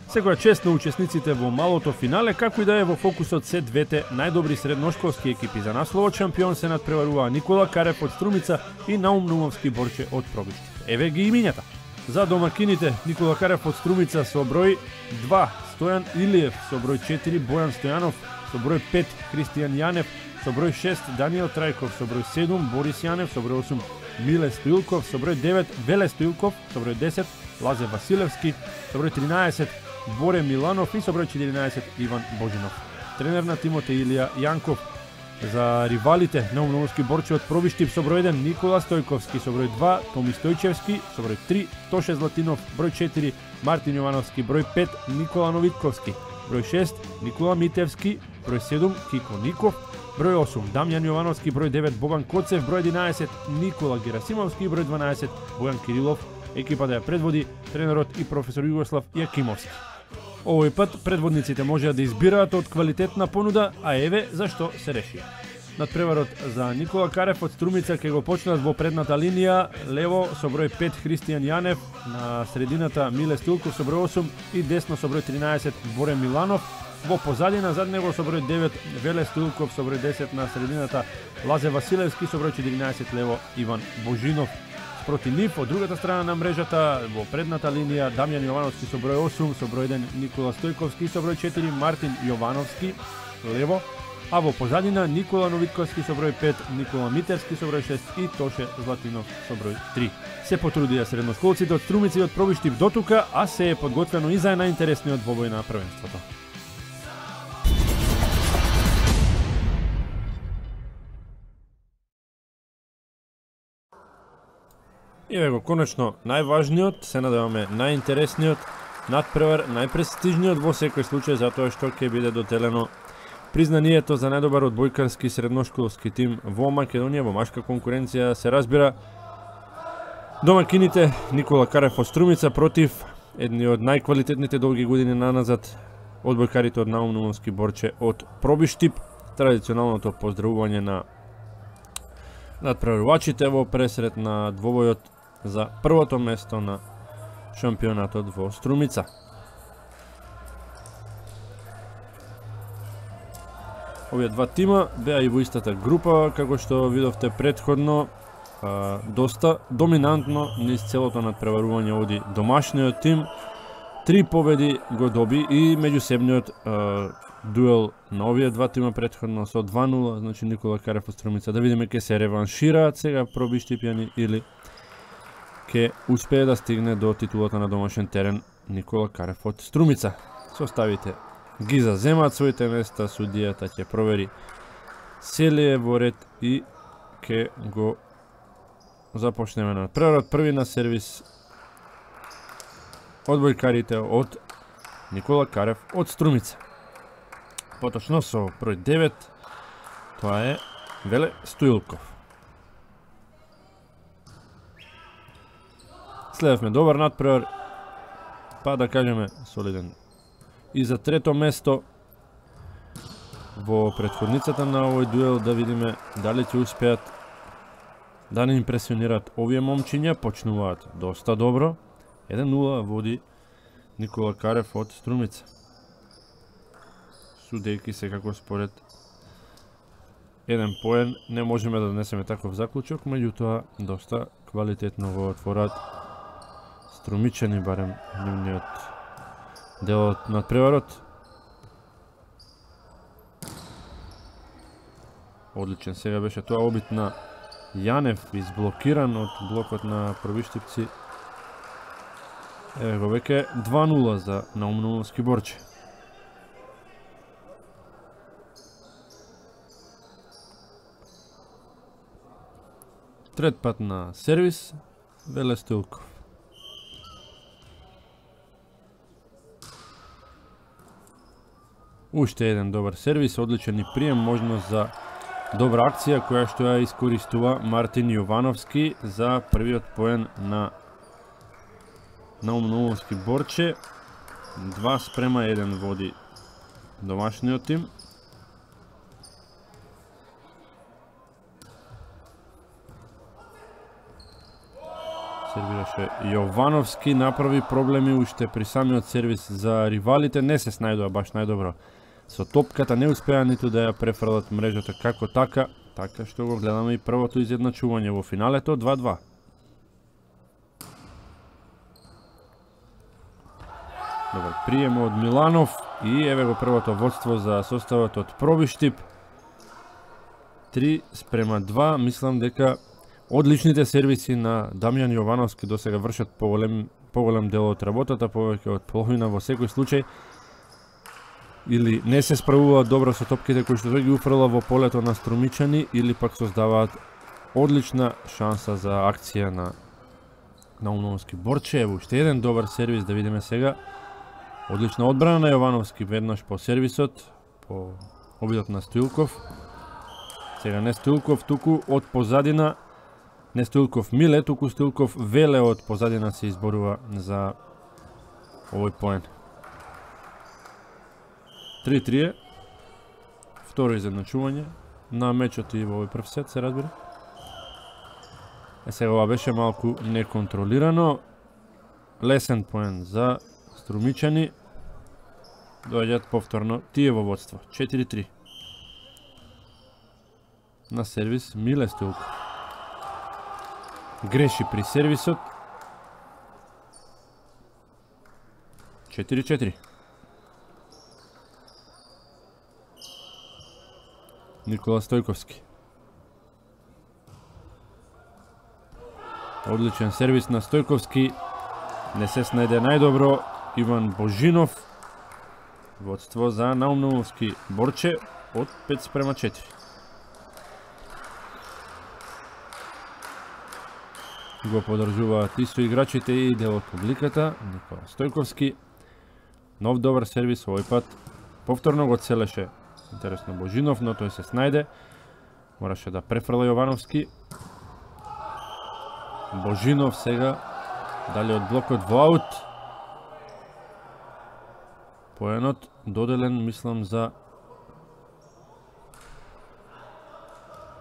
Секоја чест на учесниците во малото финале, како и да е во фокусот се двете најдобри средношколски екипи. За насловот шампион се надпреваруваа Никола Карев од Струмица и Наум Наумовски Борче од Пробишти. Еве ги имињата. За домакините Никола Карев од Струмица со број 2, Стојан Илиев со број 4, Бојан Стојанов со број 5, Кристијан Јанев со број 6, Даниел Трајков со број 7, Борис Јанев со број 8, Миле Стоилков со број 9, Веле Стоилков со број 10, Лазе Василевски со број 13, Боре Миланов и со број 14 Иван Божинов. Тренер на тимот е Илија Јанков. За ривалите Наум Наумовски Борче од Пробишти со број 1 Никола Стојковски со број 2, Томи Стојчевски со број 3, Тоше Златинов број 4, Мартин Јовановски број 5, Никола Новитковски број 6, Никола Митевски број 7, Кико Ников број 8, Дамјан Јовановски број 9, Боган Коцев број 11, Никола Герасимовски број 12, Бојан Кирилов. Екипата ја предводи тренерот и професор Југослав Јакимовски. Овој пат предводниците можеа да избираат од квалитетна понуда, а еве зашто се реши. Надпреварот за Никола Карев од Струмица ќе го почнат во предната линија, лево со број 5 Христијан Јанев, на средината Миле Стилков со број 8 и десно со број 13 Боре Миланов, во позадина зад него со број 9 Веле Стилков со број 10 на средината Лазе Василевски со број 14 лево Иван Божинов. Проти нив, од другата страна на мрежата, во предната линија, Дамјан Јовановски со број 8, со број 1 Никола Стојковски, со број 4 Мартин Јовановски, лево, а во позадина Никола Новитковски со број 5, Никола Митевски со број 6 и Тоше Златинов со број 3. Се потрудија средношколците од Струмица и од Пробишти дотука, а се е подготвено и за најинтересниот двобој на првенството. Еве го конечно најважниот, се надеваме најинтересниот надпревар, најпрестижниот во секој случај, затоа што ќе биде доделено признанието за најдобар одбојкарски средношколски тим во Македонија, во машка конкуренција, се разбира. Домакините Никола Карев од Струмица против едни од најквалитетните долги години наназад одбојкарите од Наум Наумовски Борче од Пробишти. Традиционалното поздравување на надпреварувачите во пресрет на двобојот за првото место на шампионатот во Струмица. Овие два тима беа и во истата група, како што видовте претходно, доста доминантно низ целото надпреварување оди домашниот тим. 3 победи го доби и меѓусебниот дуел на овие два тима претходно со 2-0, значи Никола Карев од Струмица. Да видиме ке се реваншираат сега Пробиштипјани или ке успее да стигне до титулата на домашен терен Никола Карев од Струмица. Составите ги заземаат своите места, судијата ќе провери селие во ред и ке го започнеме на прерод. Први на сервис одбојкарите од Никола Карев од Струмица. Поточно со број 9, тоа е Веле Стоилков. Следевме добар надпревар, па да кажеме солиден. И за трето место во претходницата на овој дуел, да видиме дали ќе успеат да не импресионираат овие момчиња. Почнуваат доста добро. 1-0 води Никола Карев од Струмица. Судејки секако според еден поен не можеме да донесеме таков заклучок, меѓутоа доста квалитетно го отворат струмичани, барем нивниот дел од надпреварот. Одличен сега беше тоа обид на Јанев, изблокиран од блокот на Пробиштипци. Еве го веќе 2-0 за Наум Наумовски Борче. Трет пат на сервис Веле Стоилков. Уште еден добар сервис, одличен и прием, можност за добра акција која што ја искористува Мартин Јовановски за првиот поен на Наум Наумовски Борче. 2:1 води домашниот тим. сервираше Јовановски, направи проблеми уште при самиот сервис за ривалите, не се снајдува баш најдобро со топката, не успеа ниту да ја префрлат мрежата како така што го гледаме и првото изедначување во финалето 2-2. Добар прием од Миланов и еве го првото водство за составот од Пробиштип. 3:2, мислам дека одличните сервиси на Дамјан Јовановски досега вршат поголем дел од работата, повеќе од половина во секој случај, или не се справуваат добро со топките кои што тој ги уфрла во полето на Струмичани, или пак создаваат одлична шанса за акција на Наумновски. Борче, уште еден добар сервис, да видиме сега. Одлична одбрана на Јовановски, веднаш по сервисот, по обидот на Стоилков. Сега не Стоилков, туку од позадина, не Стоилков Миле, туку Стоилков Веле од позадина се изборува за овој поен. 3-3, второ изедначување на мечот и во овој прв сет, се разбира. Сега ова беше малку неконтролирано. Лесен поен за Струмичани. Доаѓаат повторно тие во водство. 4-3. На сервис Миле Стоилков. Греши при сервисот. 4-4. Никола Стојковски. Одличен сервис на Стојковски. Не се снајде најдобро Иван Божинов. Водство за Наумновски. Борче од 5:4. Го подржуваат и со играчите и дел од публиката. Никола Стојковски. Нов добар сервис овој пат. Повторно го целеше интересно Божинов, но тој се снајде. Мораше да префрла Јовановски. Божинов сега дали од блокот во аут. Поенот доделен, мислам, за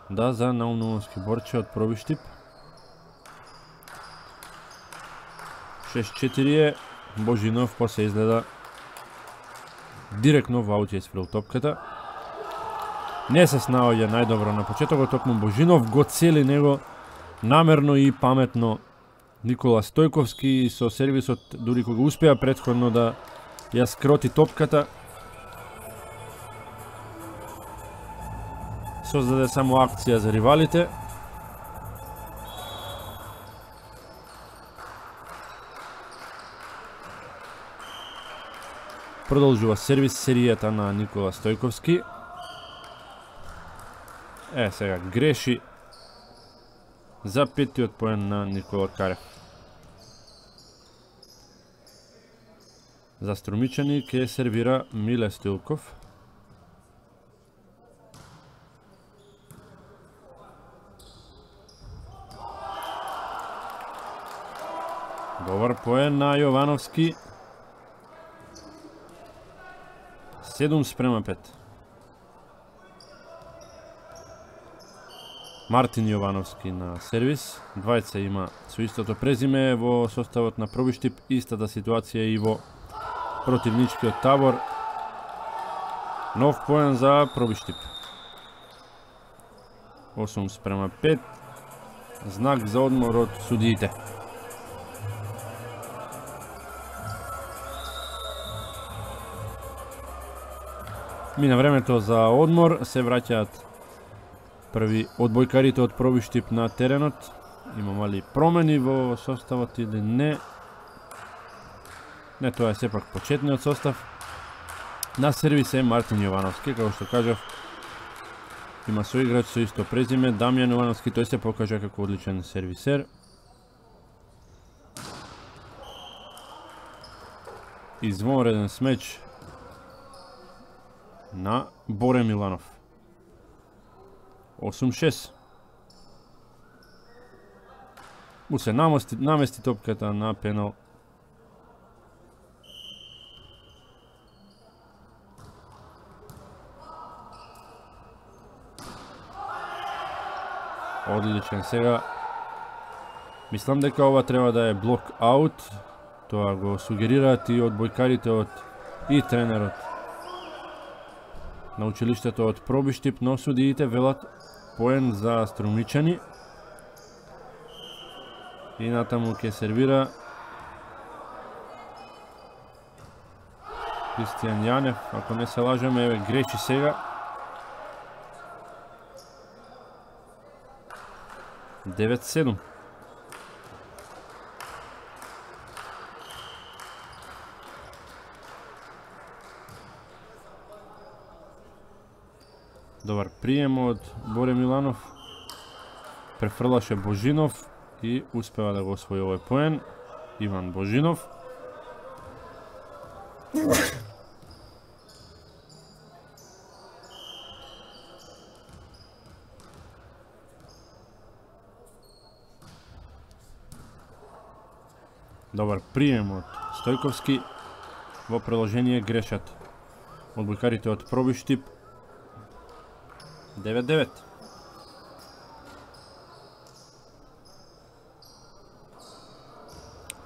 Наумновски. Борче од Пробиштип. 6-4 е. Божинов после изгледа директно во аут ја исфрил топката. Не се снаоѓа најдобро на почетокот, токму Божинов го цели него намерно и паметно Никола Стојковски со сервисот, дури кога успеа претходно да ја скроти топката, создаде само акција за ривалите. Продолжува сервис серијата на Никола Стојковски. Сега греши за петиот поен на Никола Карев. За Струмичани ке сервира Миле Стоилков. Добар поен на Јовановски. 7:5. Мартин Јовановски на сервис. Двајца има со истото презиме во составот на Пробиштип. Истата ситуација и во противничкиот табор. Нов поен за Пробиштип. 8:5. Знак за одмор од судиите. Мина времето за одмор, се враќаат први одбојкарите од Пробиштип на теренот. Имаме ли промени во составот или не? Не, тоа е сепак почетниот состав. На сервис е Мартин Јовановски, како што кажав, има соиграч со исто презиме, Дамјан Јовановски, тој се покажа како одличен сервисер. Извонреден смеч на Боре Миланов. 8-6. Му се намести топката на пенал. Одличен сега Мислам дека ова треба да е блок аут. Тоа го сугерираат и одбојкарите и тренерот на училиштето од Пробиштип, но судиите велат поен за Струмичани. И натаму ќе сервира Кристијан Јанев, ако не се лажеме, еве греши сега. Девет-7. Добар прием од Боре Миланов. Префрлаше Божинов и успева да го освои овој поен. Иван Божинов. Добар прием од Стојковски. Во приложение грешат одбојкарите од Пробиштип. 9-9.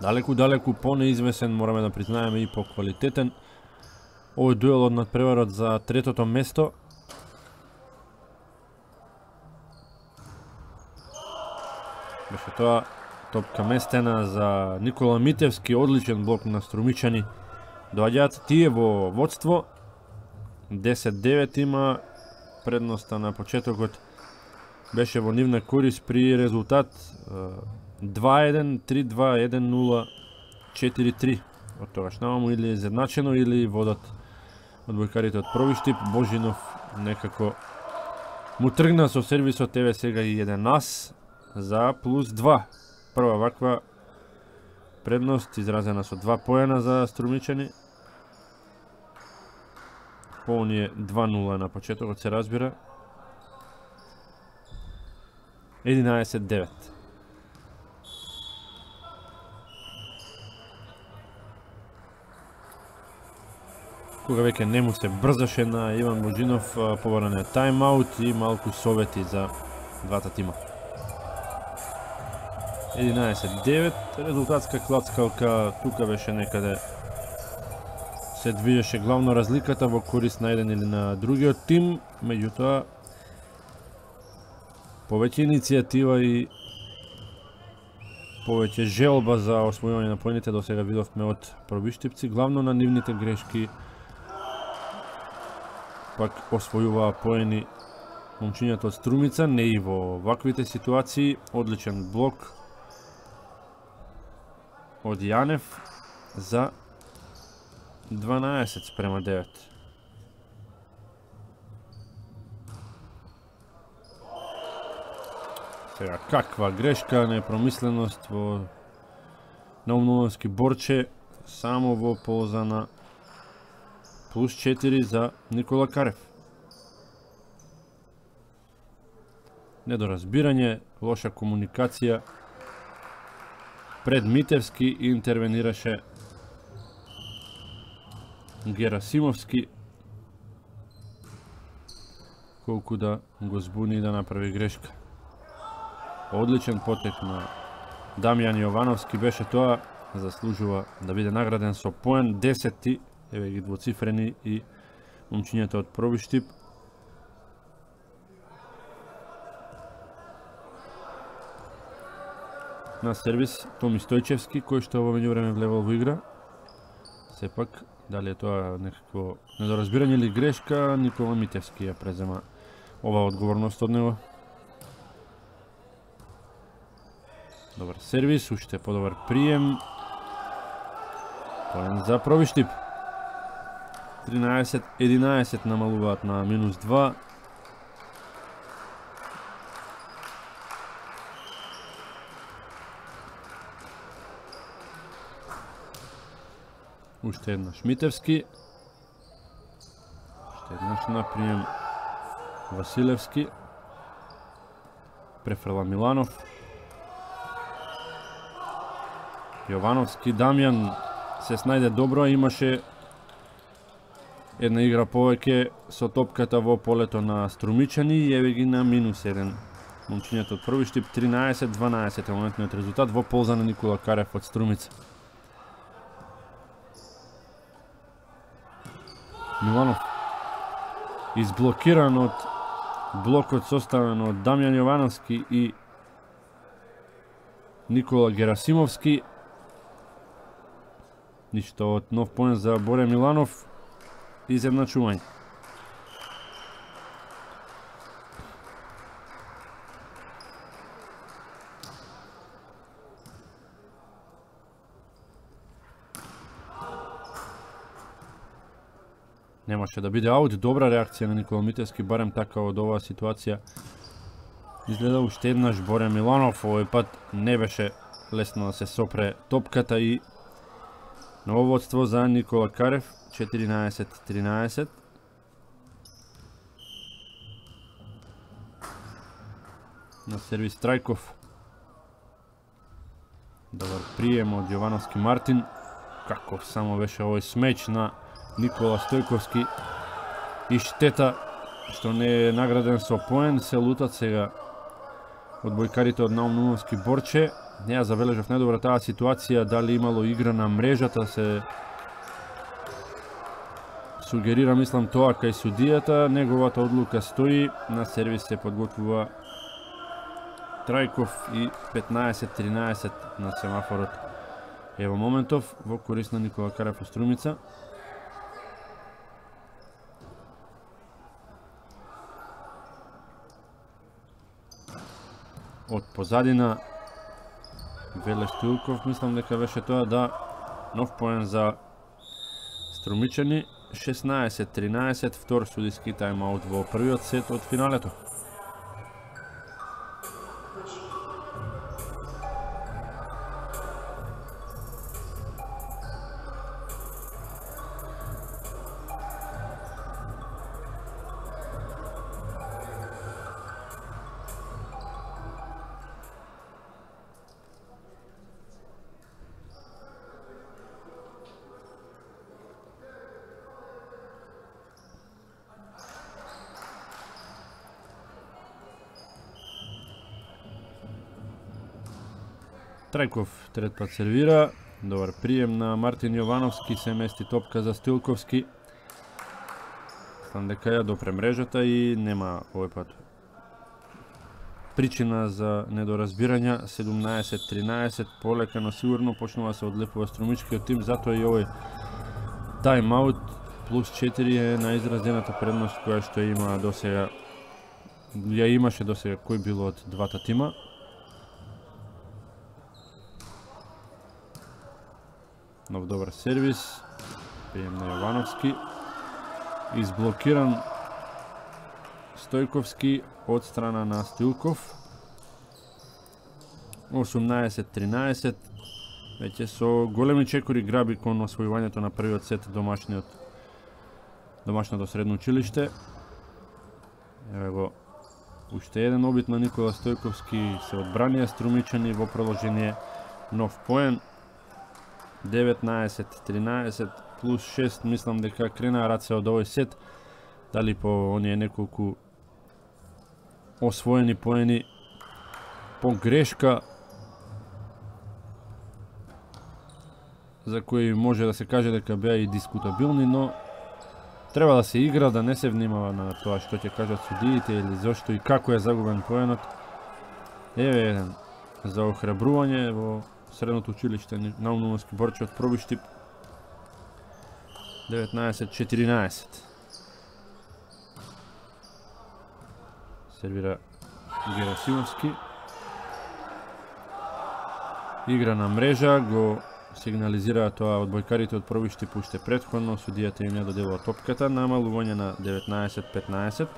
Далеку по-неизвесен, мораме да признаеме, и по-квалитетен. Овој дуел од надпреварот за третото место. Беше тоа топка местена за Никола Митевски, одличен блок на Струмичани. Доаѓаат тие во водство. 10-9 има. Предноста на почетокот беше во нивна корис при резултат 2-1, 3-2, 1-0, 4-3. Од тогаш намаму или изедначено или водат одбојкарите од Пробиштип. Божинов некако му тргна со сервисот, еве сега и 1 ас за плюс 2. Прва ваква предност изразена со 2 поена за Струмичани. По оние 2-0 на почетокот се разбира. 11-9. Кога веќе не му се брзаше на Иван Божинов, побаране тайм-аут и малку совети за двата тима. 11-9, резултатска клацкалка, тука беше некаде се движеше главно разликата во корист на еден или на другиот тим, меѓутоа повеќе иницијатива и повеќе желба за освојување на поените до сега видовме од Пробиштипци, главно на нивните грешки пак освојуваа поени момчињата од Струмица, не и во ваквите ситуации. Одличен блок од Јанев за 12-9. Сега, каква грешка, непромисленост во Наумновски Борче, само во полза на плюс 4 за Никола Карев. Недоразбирање, лоша комуникација. Пред Митевски интервенираше Герасимовски, колку да го збуни и да направи грешка. Одличен потек на Дамјан Јовановски беше тоа, заслужува да биде награден со поен 10, еве ги двоцифрени и момчињата од Пробиштип. На сервис Томи Стојчевски, кој што во меѓувреме влевал во игра. Сепак, дали е тоа некакво недоразбирање или грешка, Никола Митевски ја презема ова одговорност од него. Добар сервис, уште подобар прием. Поен за Пробиштип. 13-11 намалуваат на минус 2. Уште еднаш Митевски. Уште еднаш на прием Василевски. Префрла Миланов. Јовановски, Дамјан се снајде добро, имаше една игра повеќе со топката во полето на Струмичани и еве ги на минус 1 Момчињата од први штип 13-12 е моментниот резултат во полза на Никола Карев од Струмица. Миланов изблокиран од блокот составен од Дамјан Јовановски и Никола Герасимовски. Ништо од нов поен за Боре Миланов. Изедначување. Немаше да биде аут, добра реакција на Никола Митевски, барем така од оваа ситуација. Изгледа уште еднаш Боре Миланов, овој пат не беше лесно да се сопре топката и ново водство за Никола Карев, 14-13. На сервис Трајков. Добар прием од Јовановски Мартин. Каков само беше овој смеч на Никола Стојковски и штета што не е награден со поен. Се лутат сега одбојкарите од Наум Нумовски Борче. Не ја забележав најдобра таа ситуација, дали имало игра на мрежата, се сугерира, мислам, тоа кај судијата. Неговата одлука стои, на сервис се подготвува Трајков и 15-13 на семафорот. Ево моментов во корист на Никола Карев од Струмица. Од позадина Веле Стоилков, мислам дека беше тоа, да, нов поен за Струмичани. 16-13, втор судиски тајмаут во првиот сет од финалето. Трајков трет пат сервира, добар прием на Мартин Јовановски, се мести топка за Стилковски. Стан дека ја допре мрежата и нема овој пат причина за недоразбирања. 17-13, полека но сигурно почнува се одлепува Струмичкиот тим, затоа и овој тайм-аут плюс 4 е наизразената предност која што има досега, ја имаше досега кој било од двата тима. Нов добар сервис, прием на Јовановски, изблокиран Стојковски од страна на Стилков. 18-13, веќе со големи чекори граби кон освојувањето на првиот сет домашното средно училиште. Еве го уште еден обид на Никола Стојковски, се одбранија Струмичани во продолжение, нов поен. 19-13 плюс 6, мислам дека кренаа раце од овој сет, дали по оние неколку освоени поени по грешка за кои може да се каже дека беа и дискутабилни, но треба да се игра, да не се внимава на тоа што ќе кажат судиите или зошто и како е загубен поенот. Еве еден за охрабрување во средното училиште Наум Нумовски Борче од проби штип. 19-14. Сервира Герасимовски. Игра на мрежа, го сигнализираа тоа одбојкарите од проби штип уште претходно, судијата им ја доделува топката, намалување на 19-15.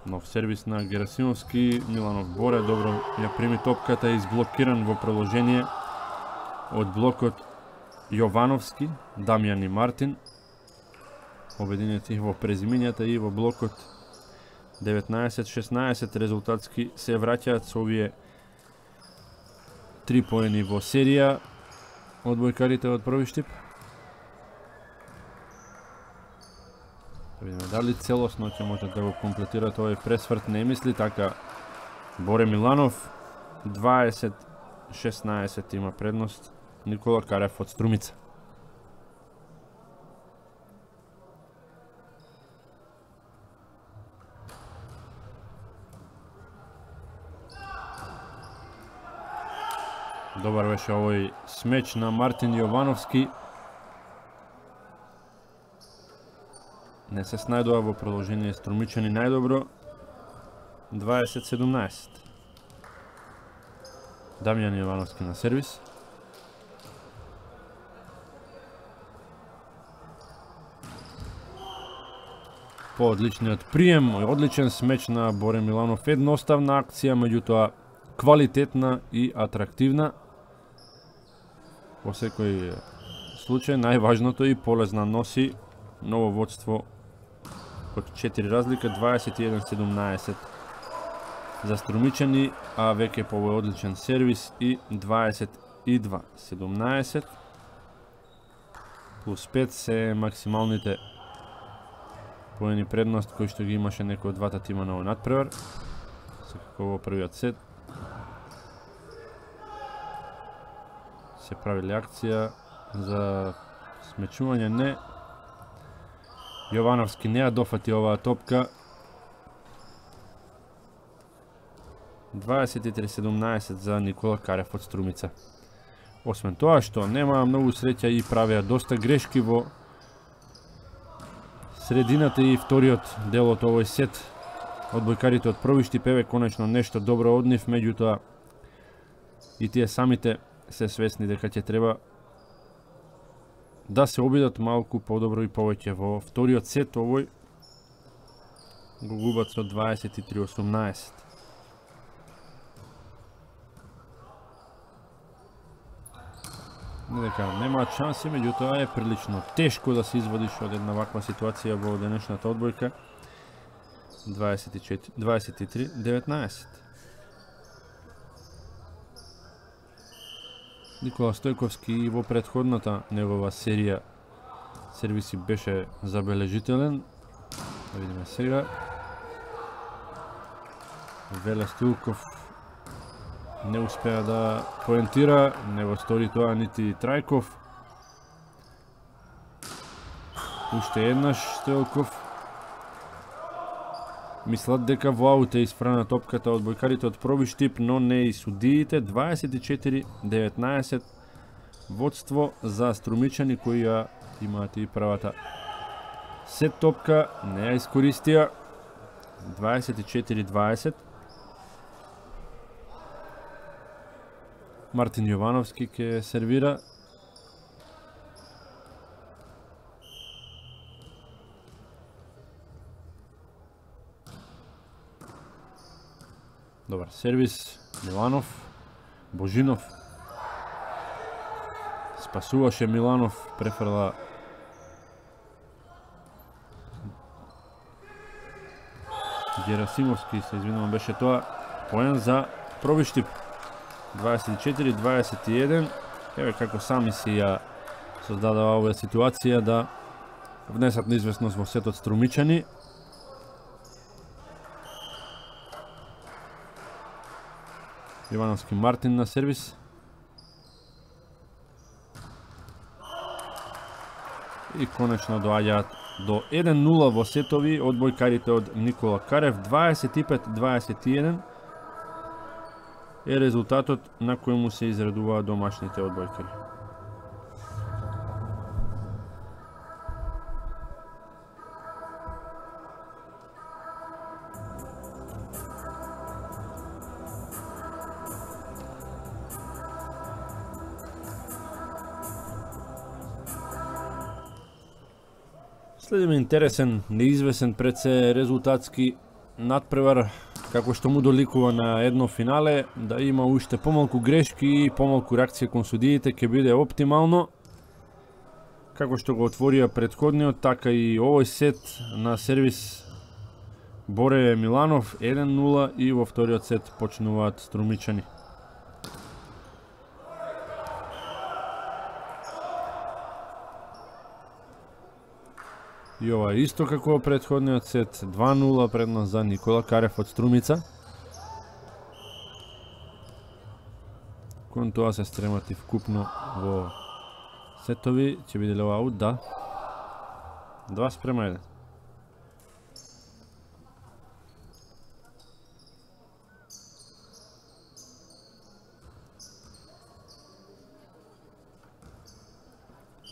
Нов сервис на Герасимовски, Миланов Боре добро ја прими топката, изблокиран во продолжение од блокот Јовановски, Дамјан и Мартин. Обединети во презимињата и во блокот 19-16 резултатски се враќаат со овие 3 поени во серија одбојкарите од први штип. видиме дали целосно ќе можат да го комплетират овој пресврт, не мисли така. Боре Миланов 20-16 има предност Никола Карев од Струмица. Добар беше овој смеч на Мартин Јовановски. Не се снајдува во продолжение Струмичани најдобро. 20-17. Дамјан Јовановски на сервис. По одличниот прием, одличен смеч на Боре Миланов. Едноставна акција, меѓутоа квалитетна и атрактивна. Во секој случај, најважното и полезна носи ново водство од 4 разлика, 21-17 за Струмичани, а веќе по овој одличен сервис и 22-17 плюс 5 се максималните поени предност кои што ги имаше некој од двата тима на овој надпревар. Секако во првиот сет се правили акција за смечување, не. Јовановски не ја дофати оваа топка. 23-17 за Никола Карев од Струмица. Освен тоа што нема многу среќа и правеа доста грешки во средината и вториот дел од овој сет. Одбојкарите од Пробишти певе конечно нешто добро од нив, меѓутоа и тие самите се свесни дека ќе треба да се обидат малку подобро и повеќе во вториот сет. Овој го губат со 23-18. Не дека немаат шанси, меѓутоа е прилично тешко да се извадиш од една ваква ситуација во денешната одбојка. 23-19. Никола Стојковски во претходната негова серија сервиси беше забележителен. Да видиме сега. Веле Стилков не успеа да поентира, не го стори тоа нити Трајков. Уште еднаш Стилков. Мислат дека во аут е испрана топката од бојкарите од Пробиштип, но не и судиите. 24-19 водство за Струмичани кои ја имаат и првата сет топка, не ја искористија. 24-20. Мартин Јовановски ќе сервира. Добар сервис, Миланов, Божинов. Спасуваше Миланов, префрла Герасимовски, се извинувам, беше тоа. Поен за Пробиштип. 24-21. Еве како сами си ја создадава оваа ситуација да внесат неизвестност во сетот Струмичани. Јовановски Мартин на сервис. И конечно доаѓаат до 1-0 во сетови одбојкарите од Никола Карев. 25-21 е резултатот на кој му се изредуваат домашните одбојкари. Следиме интересен, неизвесен пред се резултатски надпревар, како што му доликува на едно финале, да има уште помалку грешки и помалку реакција кон судиите ќе биде оптимално. Како што го отворија претходниот, така и овој сет на сервис Боре Миланов 1-0 и во вториот сет почнуваат Струмичани. И ова е исто како претходниот сет, 2-0 предност за Никола Карев од Струмица. Кон тоа се стремати вкупно во сетови, ќе биде ли ова аут? Да. 2-1.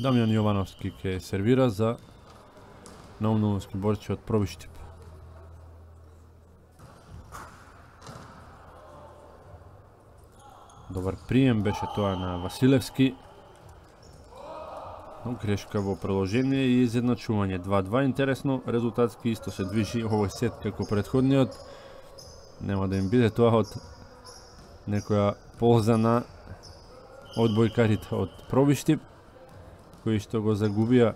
Дамјан Јовановски ќе сервира за Наумновски Борче од Пробиштип. Добар прием беше тоа на Василевски. Но грешка во продолжение и изедначување 2-2. Интересно, резултатски исто се движи овој сет како претходниот. Нема да им биде тоа од некоја полза на одбојкарите од Пробиштип, кои што го загубија,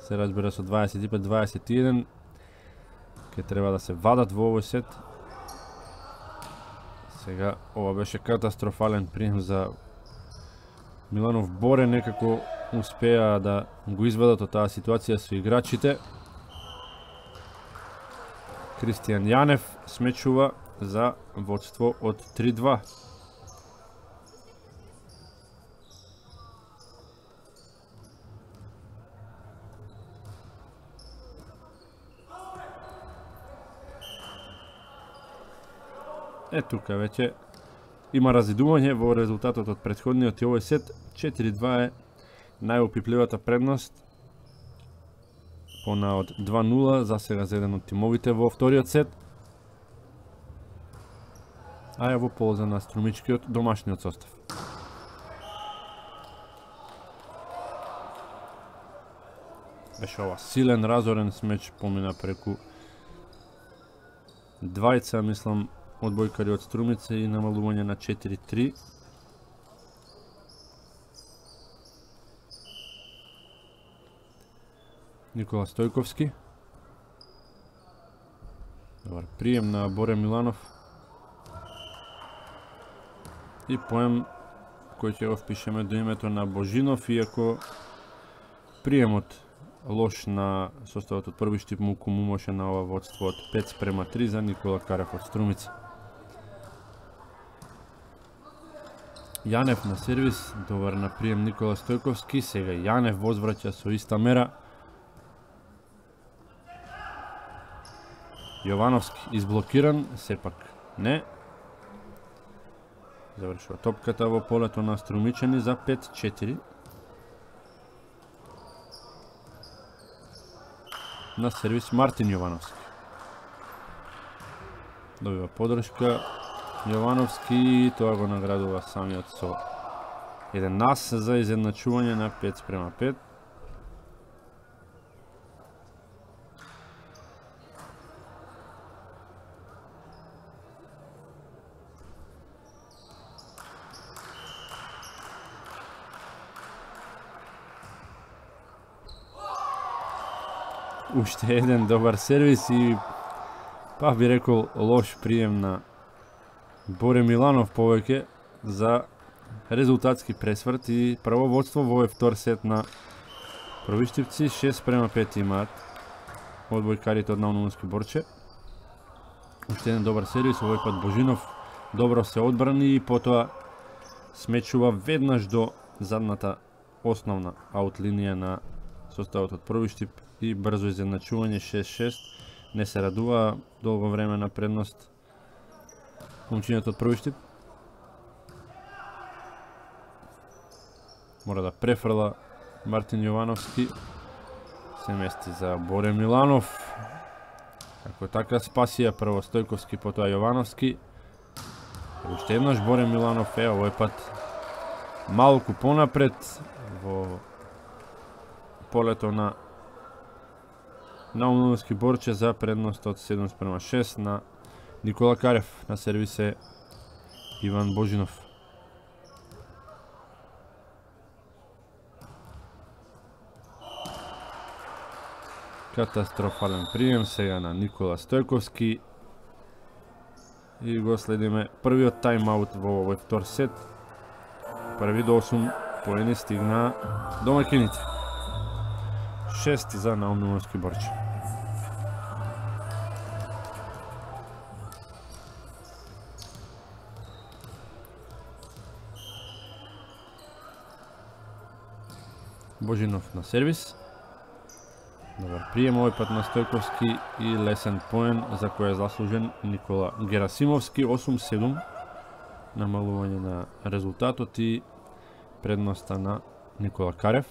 се разбира, со 25-21. Ке треба да се вадат во овој сет. Сега, ова беше катастрофален прием за Миланов. Боре некако успеа да го изведат од таа ситуација со играчите. Кристијан Јанев смечува за водство од 3-2. Тука веќе има разидување во резултатот од претходниот и овој сет. 4-2 е најопипливата предност. Пона од 2-0 за сега за еден од тимовите во вториот сет. А е во полза на струмичкиот домашниот состав. Беше ова силен, разорен смеч, помина преку двајца, мислам, одбојкари од Струмица и намалување на 4-3. Никола Стојковски. Добар прием на Боре Миланов. И поем кој ќе го впишеме до името на Божинов, иако приемот лош на составот од Пробиштип му кумумоше на ова водство од 5-3 за Никола Карев од Струмица. Јанев на сервис, добар на прием Никола Стојковски, сега Јанев возвраќа со иста мера. Јовановски изблокиран, сепак не. Завршува топката во полето на Струмичани за 5-4. На сервис Мартин Јовановски. Добива подршка Јовановски и тоа го наградува самиот со еден нас за изедначување на 5-5. Уште еден добар сервис и па би рекол лош прием на Боре Миланов повеќе за резултатски пресврт и прво водство во овој втор сет на Пробиштипци. 6-5 имаат одбојкарите од Наумновски Борче. Уште еден добар сервис, овој пат Божинов добро се одбрани и потоа смечува веднаш до задната основна аут линија на составот од Пробиштип и брзо изедначување 6-6. Не се радува долго време на предност момчињата од Пробиштип. Мора да префрла Мартин Јовановски. Се мести за Боре Миланов. Како така спасија прво Стојковски, потоа Јовановски. Уште еднаш Боре Миланов е овој пат малку понапред во полето на Наумновски Борче за предност од 7-6 на Никола Карев. На сервис е Иван Божинов. Катастрофален прием сега на Никола Стојковски и го следиме првиот тайм-аут во овој втор сет. Први до 8 поени стигна домакините. 6 за Наумнумовски Борче. Божинов на сервис. Добар прием овој пат на Стојковски и лесен поен за кој е заслужен Никола Герасимовски. 8-7 намалување на резултатот и предноста на Никола Карев.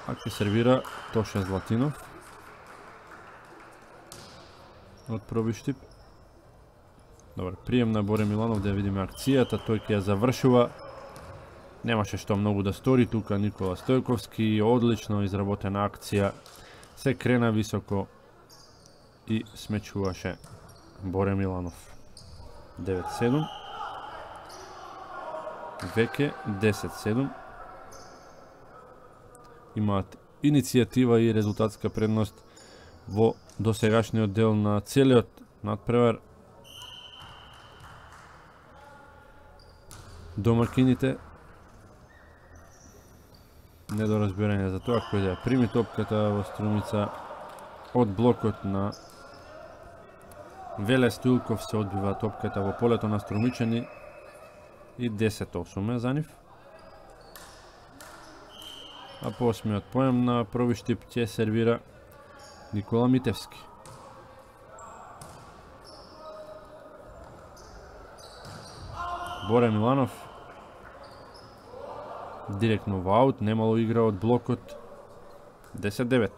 А ќе сервира Тоше Златинов од пробиштип. Добар прием на Боре Миланов, да видиме акцијата, тој ќе ја завршува. Немаше што многу да стори тука Никола Стојковски, одлично изработена акција, се крена високо и смечуваше Боре Миланов. 9-7. Веќе 10-7. Имаат иницијатива и резултатска предност во досегашниот дел на целиот надпревар. Домакините недоразбирање за тоа кој да ја прими топката во Струмица. Од блокот на Веле Стоилков се одбива топката во полето на Струмичани и 10-8 за нив. А по 8-миот поем на пробиштип ќе сервира Никола Митевски. Боре Миланов директно во аут, немало игра од блокот. 10-9.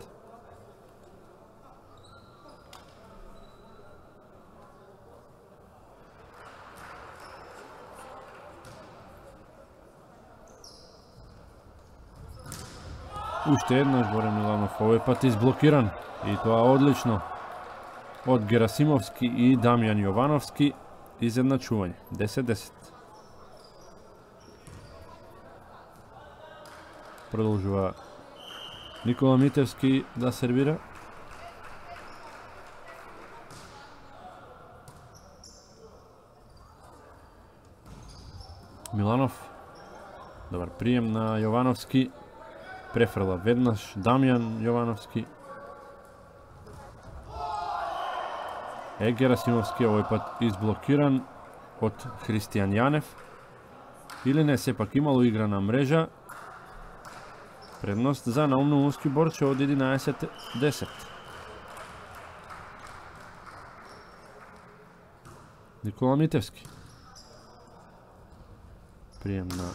Уште еднаш Боре Миланов, овој пат изблокиран и тоа одлично од Герасимовски и Дамјан Јовановски. Изедначување 10-10. Продолжува Никола Митевски да сервира. Миланов. Добар прием на Јовановски. Префрла веднаш Дамјан Јовановски. Герасимовски овој пат изблокиран од Христијан Јанев. Или не, сепак имало игра на мрежа. Предност за Наумнумовски Борче од 11-10. Никола Митевски. Прием на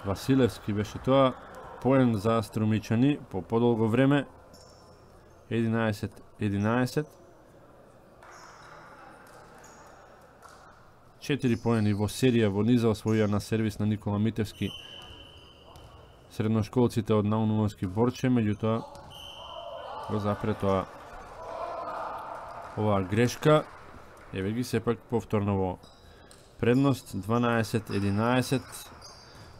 Василевски беше тоа. Поен за Струмичани по подолго време. 11-11. 4 поени во серија во низа освоија на сервис на Никола Митевски средношколците од Наумнумовски Борче, меѓутоа го запре тоа оваа грешка. Еве ги сепак повторно во предност. 12-11.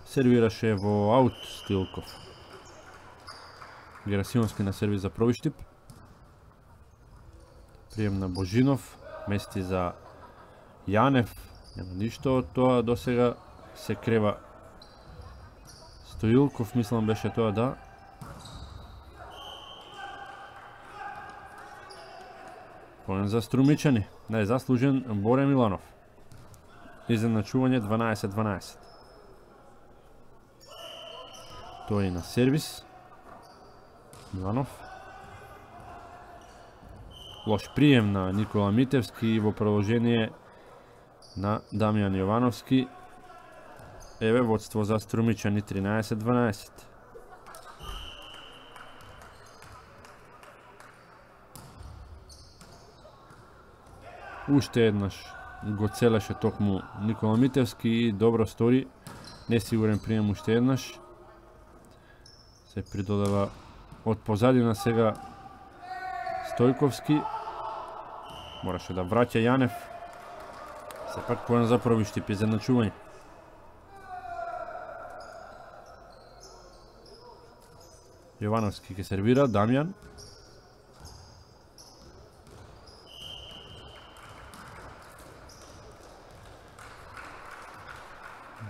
Сервираше во аут Стоилков. Герасимовски на сервис за пробиштип. Прием на Божинов, мести за Јанев. Нема ништо од тоа до сега. Се крева Стоилков, мислам беше тоа, да. Поен за Струмичани. Најзаслужен Боре Миланов. Изедначување 12-12. Тој на сервис. Миланов. Лош прием на Никола Митевски во продолжение на Дамјан Јовановски. Еве водство за Струмичани 13-12. Уште еднаш го целеше токму Никола Митевски и добро стори. Несигурен прием уште еднаш. Се придодава од позадина сега Стојковски. Мораше да враќа Јанев. Сепак поен за пробиштип, изедначување. Јовановски ќе сервира, Дамјан.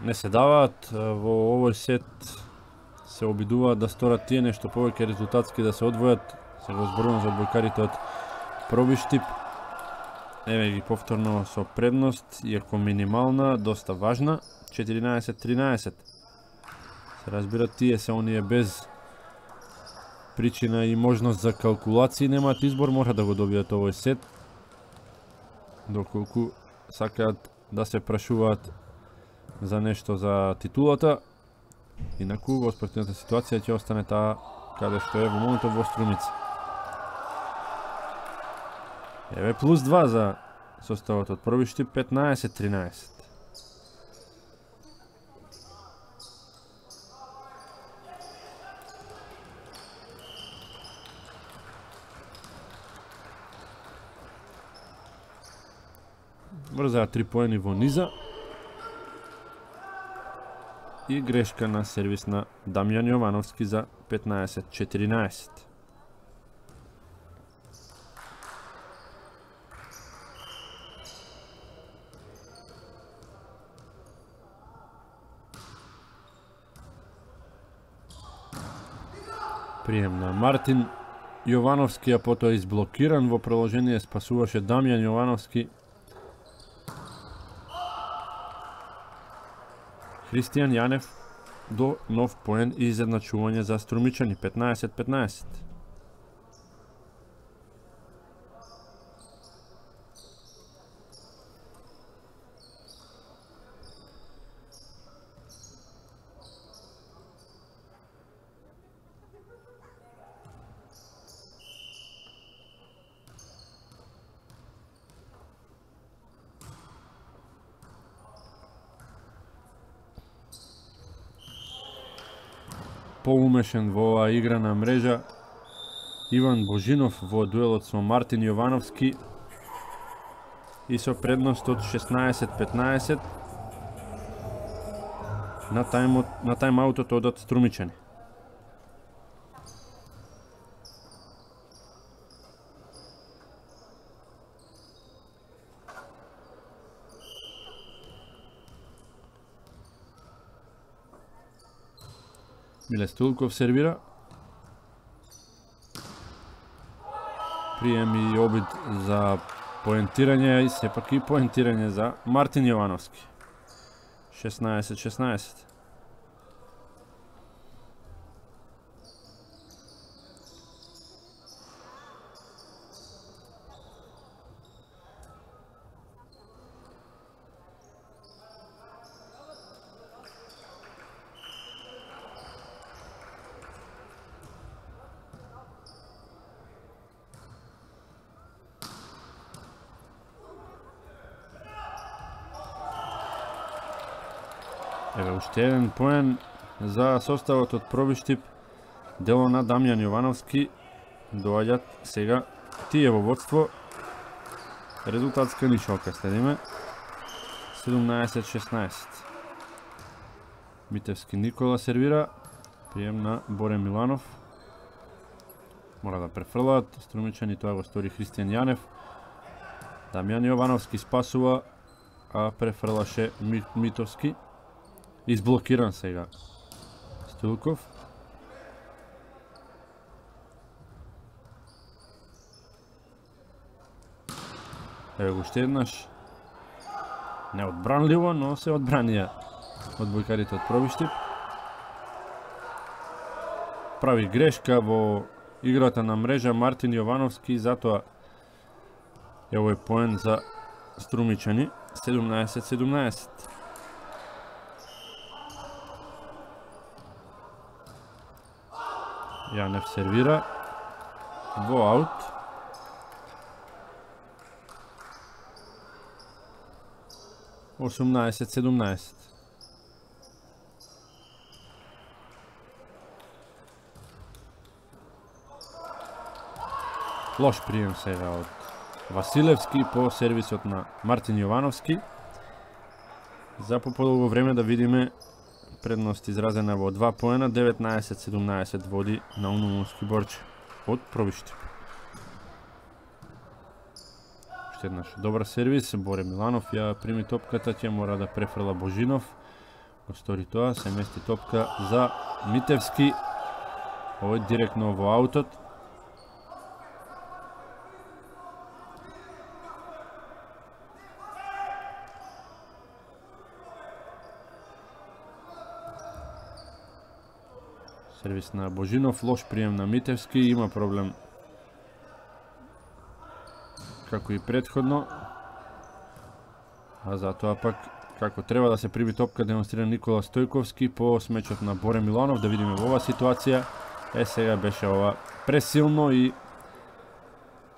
Не се даваат во овој сет се обидуваат да сторат тие нешто повеќе резултатски, да се одвојат. Се го зборувам за одбојкарите од Пробиштип. Еве ги повторно со предност, иако минимална, доста важна. 14-13. Се разбира, тие се оние без причина и можност за калкулации, немаат избор, мора да го добијат овој сет. Доколку сакаат да се прашуваат за нешто за титулата. Инаку во спортивната ситуација ќе остане таа каде што е во моментот во Струмица. Еве плюс 2 за составот од Пробиштип, 15-13. Врзаат 3 поени во низа. И грешка на сервис на Дамјан Јовановски за 15-14. Прием на Мартин Јовановски, а потоа изблокиран во продолжение спасуваше Дамјан Јовановски. Христијан Јанев до нов поен и изедначување за струмичани, 15-15. Поумешен во оваа игра на мрежа Иван Божинов во дуелот со Мартин Јовановски и со предност од 16-15 на тајм-аутот одат струмичани. Миле Стулков сервира. Прием и обид за поентирање и сепак и поентирање за Мартин Јовановски. 16-16. Еве уште еден поен за составот од Пробиштип, дело на Дамјан Јовановски. Доаѓат сега тие во водство. Резултатска нишалка следиме. 17-16. Митевски Никола сервира. Прием на Боре Миланов. Мора да префрлаат струмичани, тоа го стори Христијан Јанев. Дамјан Јовановски спасува, а префрлаше Митовски. Изблокиран сега Стилков. Еве го уште еднаш. Неодбранливо, но се одбранија одбојкарите од Пробиштип. Прави грешка во играта на мрежа Мартин Јовановски, затоа е овој поен за струмичани. 17-17. Јанев сервира во аут. Осумнаесет 17. Лош прием сега од Василевски по сервисот на Мартин Јовановски. За поподолго време да видиме предност изразена во 2 поена, 19-17 води на Наумовски Борче од Пробиштип. еднаш добар сервис, Боре Миланов ја прими топката, ќе мора да префрла Божинов. го стори тоа, се мести топка за Митевски. Овој директно во аутот. Сервис на Божинов, лош прием на Митевски, има проблем како и претходно. А затоа пак како треба да се приби топка демонстрира Никола Стојковски по смечот на Боре Миланов. Да видиме во оваа ситуација. Сега беше ова пресилно и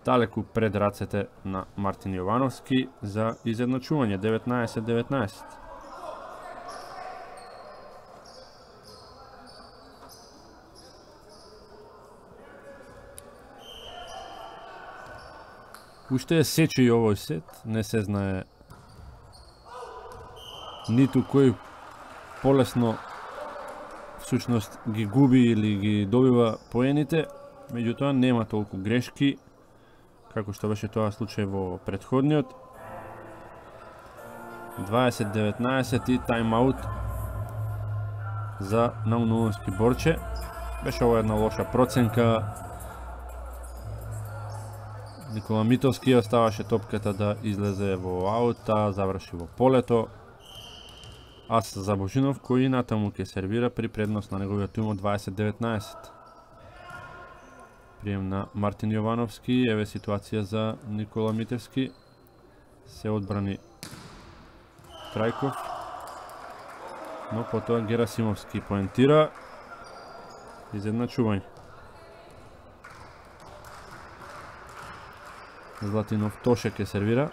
далеку пред рацете на Мартин Јовановски за изедначување 19-19. Уште е сече и овој сет, не се знае ниту кој полесно всушност ги губи или ги добива поените, меѓутоа нема толку грешки како што беше тоа случај во претходниот. 20-19 и тайм-аут за Наунумовски Борче. Беше ова една лоша проценка. Никола Митовски оставаше топката да излезе во аут, заврши во полето. Ас за Божинов, кој натаму ќе сервира при предност на неговиот тим од 20-19. Прием на Мартин Јовановски, еве ситуација за Никола Митевски. Се одбрани Трајков, но потоа Герасимовски поентира. Изедначување. Златинов Тоше ќе сервира.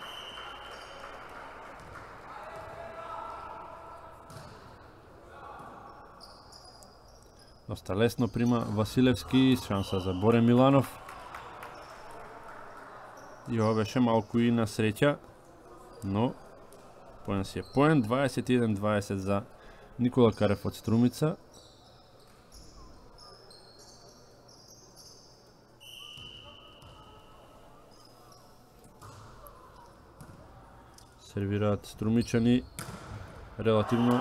Доста лесно прима Василевски, шанса за Боре Миланов. И ова беше малку и на среќа, но поен си е поен. 21-20 за Никола Карев од Струмица. Сервираат струмичани релативно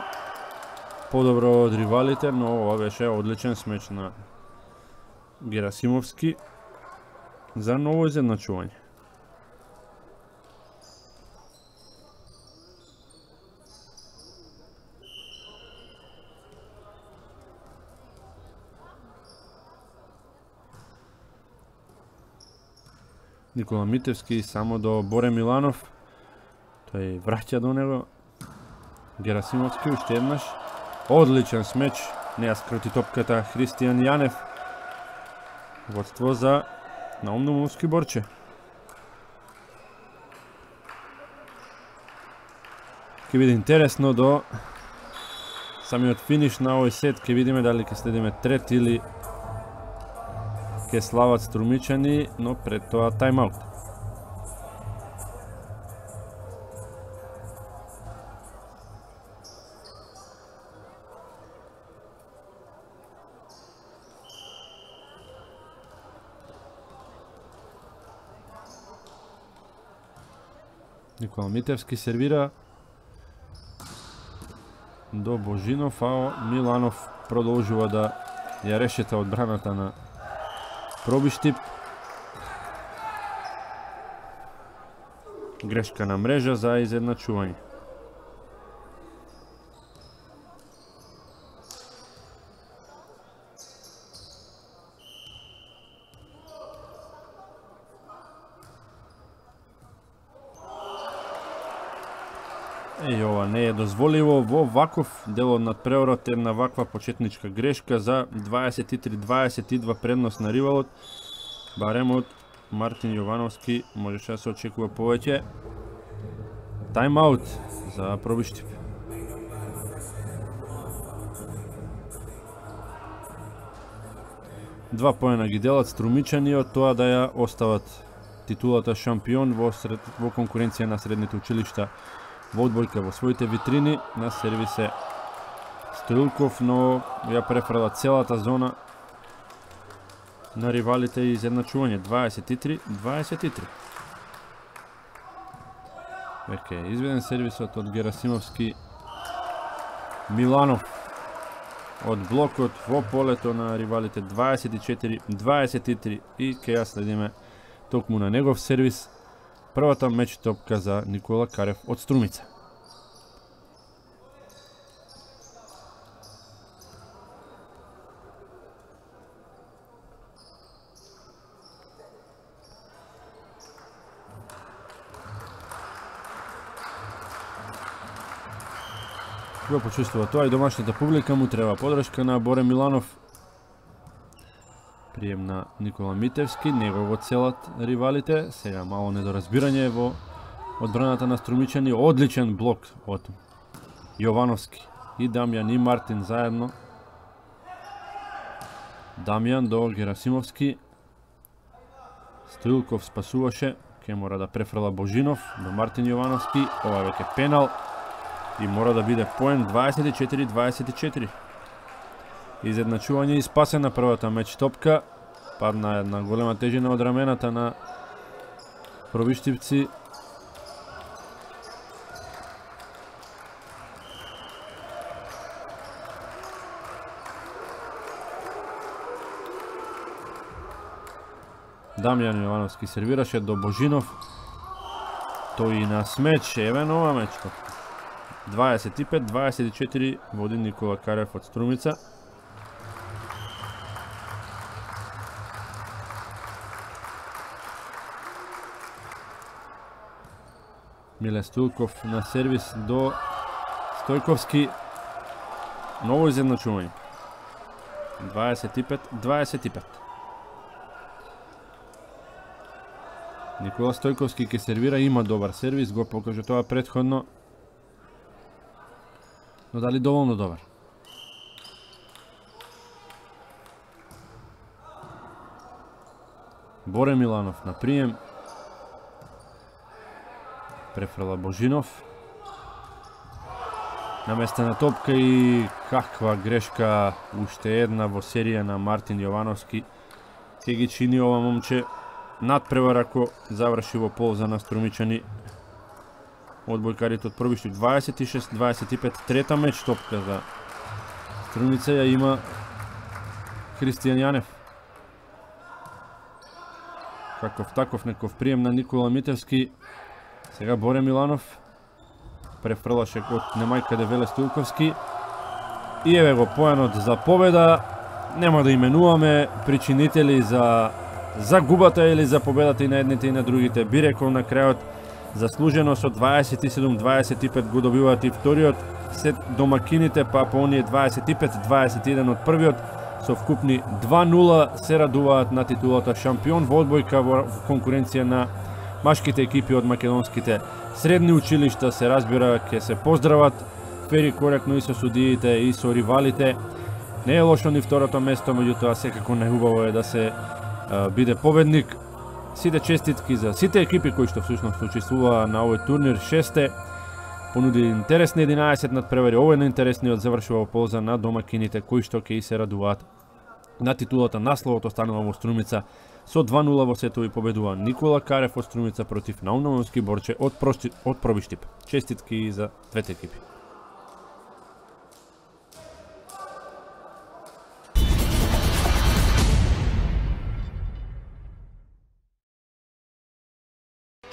подобро од ривалите, но ова беше одличен смеч на Герасимовски за ново изедначување. Никола Митевски само до Боре Миланов. Тој враќа до него. Герасимовски уште еднаш. Одличен смеч. Не ја скрути топката Христијан Јанев. Водство за Наунумовски Борче. Ке биде интересно до самиот финиш на овој сет. Ке видиме дали ке следиме трет или ке слават струмичани, но пред тоа тайм-аут. Никола Митевски сервира до Божинов, а Миланов продолжува да ја решета одбраната на Пробиштип. Грешка на мрежа за изедначување. Ова не е дозволиво во ваков дел од надпреворот, една ваква почетничка грешка за 23-20 идва предност на ривалот. Барем од Мартин Јовановски можеше да се очекува повеќе. Тайм-аут за Пробиштип. Два поена ги делат струмичани од тоа да ја остават титулата шампион во конкуренција на средните училишта во одбојка во своите витрини. На сервисе Стоилков, но ја префрла целата зона на ривалите и изедначување 23-23. Веќе изведен сервисот од Герасимовски Миланов од блокот во полето на ривалите 24-23 и ке ја следиме токму на негов сервис. Првата меч топка за Никола Карев од Струмица. Го почувствува тоа и домашната публика, му треба подршка на Боре Миланов. Прием на Никола Митевски, него го целат ривалите. Сега мало недоразбирање во одбраната на Струмичани. Одличен блок од Јовановски и Дамјан и Мартин заедно. Дамјан до Герасимовски. Стоилков спасуваше, ке мора да префрла Божинов до Мартин Јовановски. Ова веќе пенал и мора да биде поен. 24-24. Изедначување и спасена првата меч топка. Падна една голема тежина од рамената на пробиштивци. Дамјан Јовановски сервираше до Божинов. Тој и на смеч, еве нова меч топка. 25-24 води Никола Карев од Струмица. Миле Стоилков на сервис до Стојковски. Ново изедначување. 25-25. Никола Стојковски ке сервира, има добар сервис, го покажа тоа претходно. Но дали доволно добар? Боре Миланов на прием. Префрла Божинов. Наместена топка и каква грешка, уште една во серија на Мартин Јовановски. Ке ги чини ова момче надпревар ако заврши во полза на Струмичани. Одбојкарите од Пробиштив 26-25, трета меч топка за Струмица ја има Христијан Јанев. Каков таков неков прием на Никола Митевски. Сега Боре Миланов префрлаше од немајкаде Веле Стоилковски. И еве го поенот за победа. Нема да именуваме причинители за загубата или за победата и на едните и на другите. Би рекол на крајот заслужено со 27-25 го добиваат и вториот сет домакините, па по оние 25-21 од првиот со вкупни 2-0 се радуваат на титулата шампион во одбојка во конкуренција на машките екипи од македонските средни училишта. Се разбира, ќе се поздрават фери коректно и со судиите и со ривалите. Не е лошо ни второто место, меѓутоа секако најубаво е да се биде победник. Сите честитки за сите екипи кои што всушност учествуваа на овој турнир. 6 понуди интересни 11 надпревари. Овој најинтересниот завршува во полза на домакините кои што ќе и се радуваат на титулата. Насловот останува во Струмица. Со 2-0 во сетови победува Никола Карев од Струмица против Наумовски Борче од Пробиштип. Честитки за двете екипи.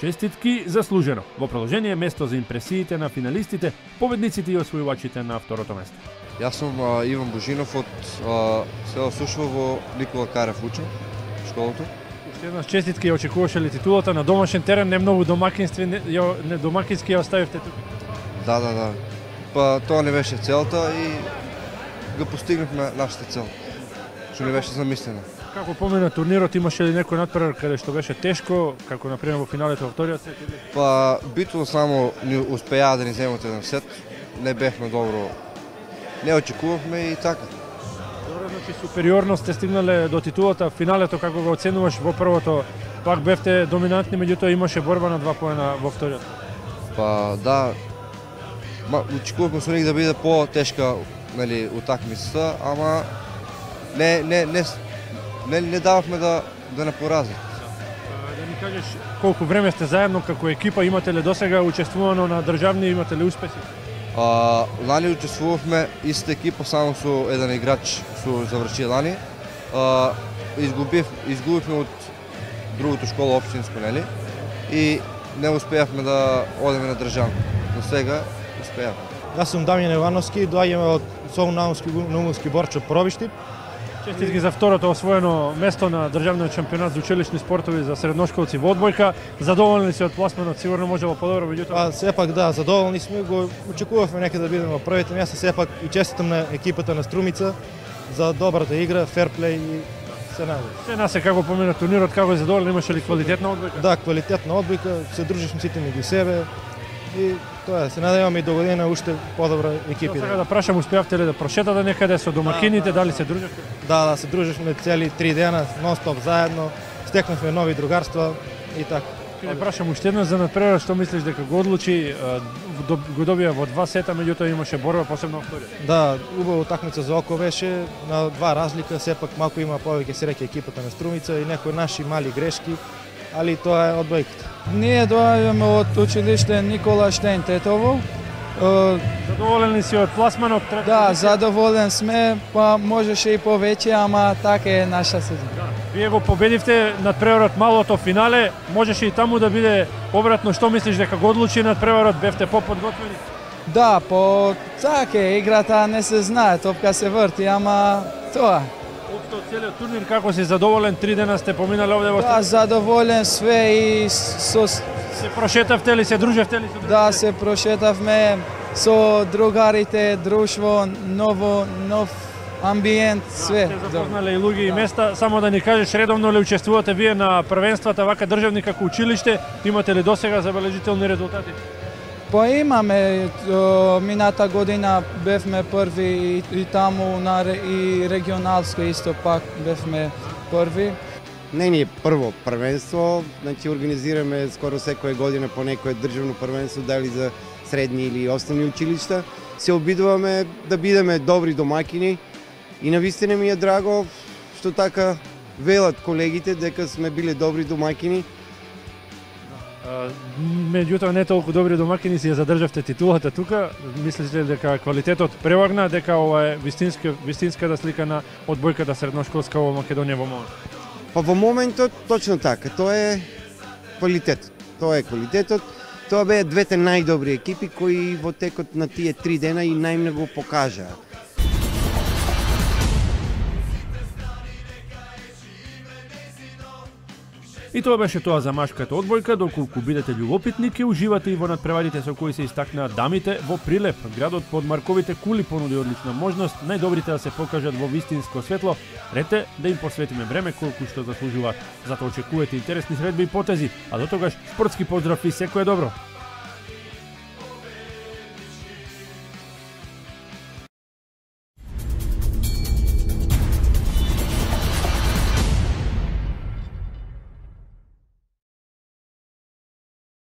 Честитки заслужено. Во продолжение место за импресиите на финалистите, победниците и освојувачите на второто место. Јас сум Иван Божинов од село Сушово во Никола Карев учам школото. Уште еднаш честитки, ја очекуваше ли титулата на домашен терен, не многу домакински ја оставивте тук? Да. Па тоа не беше целта и го постигнавме нашата цел, што не беше замислено. Како помина турнирот, имаше ли некој надпревар каде што беше тешко, како например во финалите во вториот сет? Па битно само ни успеа да ни земат еден сет, не бевме добро, не очекувавме и така. Добро, значи супериорност сте стигнале до титулата, финалето како го оценуваш? Во првото пак бевте доминантни, меѓутоа имаше борба на 2 поена во вториот. Па да, очекувавме со них да биде по-тешка, нели, утакмицата, ама не дававме да не поразат. Да ни кажеш колку време сте заедно како екипа, имате ли досега учествувано на државни, имате ли успеси? Лани учествувавме иста екипа, само со еден играч со заврши лани. Изгубивме од другото школа општинско, нели? И не успеавме да одеме на државно. Но сега успеавме. Јас сум Дамјан Ивановски, доаѓаме од Солун-Наумски Борчо Пробиштип. Честитки за второто освоено место на државниот шампионат за училишни спортови за средношколци во одбојка. Задоволни си од пласманот, сигурно можело подобро, меѓутоа. Сепак да, задоволни сме, го очекувавме некаде да бидеме во првите места, сепак и честитам на екипата на Струмица за добрата игра, ферплей и се најдобро. Се насе како помина турнирот, како е задоволен, имаше ли квалитетна одбојка? Да, квалитетна одбојка, се дружишме сите меѓу себе и тоа е, се надеваме и до година уште подобра екипи. Сега да прашам, успеавте ли да прошетате некаде со домакините, дали се дружевте? Да, се дружевме цели 3 дена, нон-стоп заедно, стекнавме нови другарства и така. Ќе прашам уште еднаш за надпреварот, што мислиш дека го одлучи, го добија во 2 сета, меѓутоа имаше борба посебно во вториот? Да, убава утакмица за око беше, на 2 разлика, сепак малку има повеќе среќа екипата на Струмица и некои наши мали грешки, али тоа е одбојката. Ние доаѓаме од училиште Никола Штејн Тетово. Задоволен ли си од пласманот? Да, задоволен сме, па можеше и повеќе, ама така е наша сезона. Вие го победивте надпреварот малото финале, можеше и таму да биде обратно. Што мислиш дека го одлучи надпреварот, бевте поподготвени? Да, по така е, играта не се знае, топка се врти, ама тоа. Општо целиот турнир, како си задоволен, 3 дена сте поминали овде во Да, задоволен све и со... Се прошетавте ли, се дружевте ли со другите? Да, се прошетавме со другарите, друштво, нов амбиент, све. Сте запознале и луѓе и места. Само да ни кажеш, редовно ли учествувате вие на првенствата вака државни како училиште? Имате ли досега забележителни резултати? Па имаме, мината година бевме први и таму и регионалско исто пак бевме први. Не ни е прво првенство, значи организираме скоро секоја година по некое државно првенство, дали за средни или основни училишта. Се обидуваме да бидеме добри домакини и навистина ми е драго што така велат колегите дека сме биле добри домакини. Меѓутоа не толку добри домакини си ја задржавте титулата тука. Мислите ли дека квалитетот превагна, дека ова е вистинската слика на одбојката средношколска во Македонија во моментот? Па во моментот точно така, тоа е квалитетот. Тоа беа двете најдобри екипи кои во текот на тие 3 дена и најмногу покажаа. И тоа беше тоа за машката одбојка. Доколку бидете љубопитни, ќе уживате и во надпреварите со кои се истакнаа дамите во Прилеп. Градот под Марковите кули понуди одлична можност најдобрите да се покажат во вистинско светло. Рете да им посветиме време колку што заслужуваат. Затоа очекувате интересни средби и потези, а до тогаш спортски поздрав и секое добро.